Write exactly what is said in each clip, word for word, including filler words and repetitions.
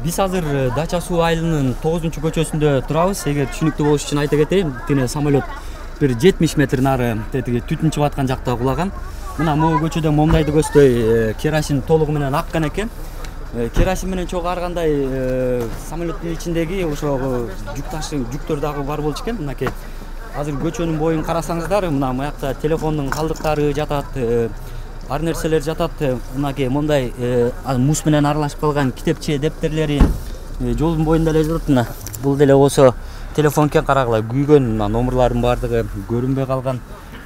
Биз азыр Дача суу айылынын тогузунчу көчөсүндө турабыз. Эгер түшүнүктүү болуш үчүн айта кетейин, тине самолет бир жетимиш метр нары тетиги түтүн чыгып аткан жакта кулаган. Мына могу көчөдө момдайды көздөй керосин толугу менен аккан экен. Керосин менен чогуу ар кандай самолеттин ичиндеги ошо жүк ташы жүктөр дагы бар болчу экен. Мынакей азыр көчөнүн боюн карасаңыздар, мына буякта телефондун калдыктары жатат, ар нерселер жатат. Мынакей мондай муз менен аралашып калган китепче, дептерлери жолдун боюнда эле жатат. Мына бул деле болсо телефон экен, карагыла күйгөн, мына номерлардын баардыгы көрүнбөй калган.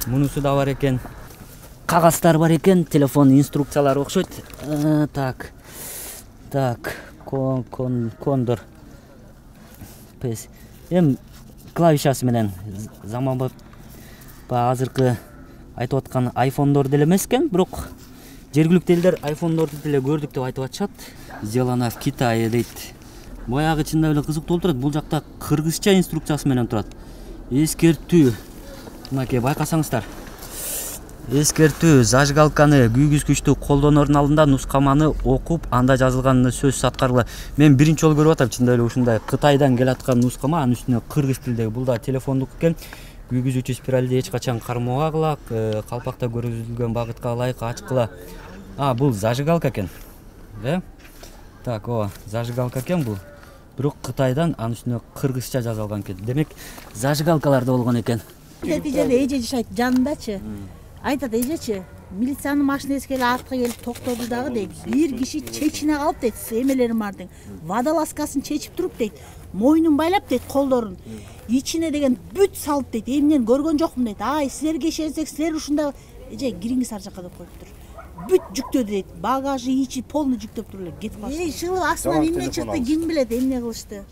Мунусу да бар экен. Кагаздар бар экен, телефон инструкциялары окшойт. Так. Так, кон кон кондор. Пес. Эм клавишасы менен заманбап азыркы айтып аткан айфондор деле эмес экен, бирок жергиликтүү элдер айфондорду деле көрдүк деп айтып атышат. Сделано в Китае дейт. Баягы чындап эле кызыктуу болуп турат. Бул жакта кыргызча инструкциясы менен турат. Эскертүү. Мынакей байкасаңыздар. Эскертүү: зажигалканы күйгүзгүчтү колдоноордун алдында нускаманы окуп, анда жазылган сөзсүз аткаргыла. Мен биринчи жолу көрүп атам чындап эле ушундай Кытайдан келаткан нускама, анын үстүнө кыргыз тилдеги. Бул да телефондук экен. Күйгүзүүчү спиралди эч качан кармабагыла, калпакта көрсөтүлгөн багытка ылайык ачкыла. А, бул зажигалка экен. Э? Так, о, зажигалка экен бул. Бирок Кытайдан, анын үстүнө кыргызча жазылган экен. Демек, зажигалкалар да болгон экен. Нетижеде эже жашайт жанындачы. Айтат эжечи, милициянын машинеси келип артка келип токтоду дагы дейт. Бир киши чечине калып дейт, эмелерин бардын. Водолазкасын чечип туруп дейт. Мойнун байлап дейт, колдорун. Ичине деген бүт салып дейт. Эмнени көргөн жокмун дейт. Ай, силерге ишенсек, силер ушунда эже кириңиз ар жакка деп коюптур. Бүт жүктөдү дейт. Багажы, ичи полный жүктөп туруп эле кетип калышты. Эй, шылып астынан эмне чыкты, ким билет эмне кылышты.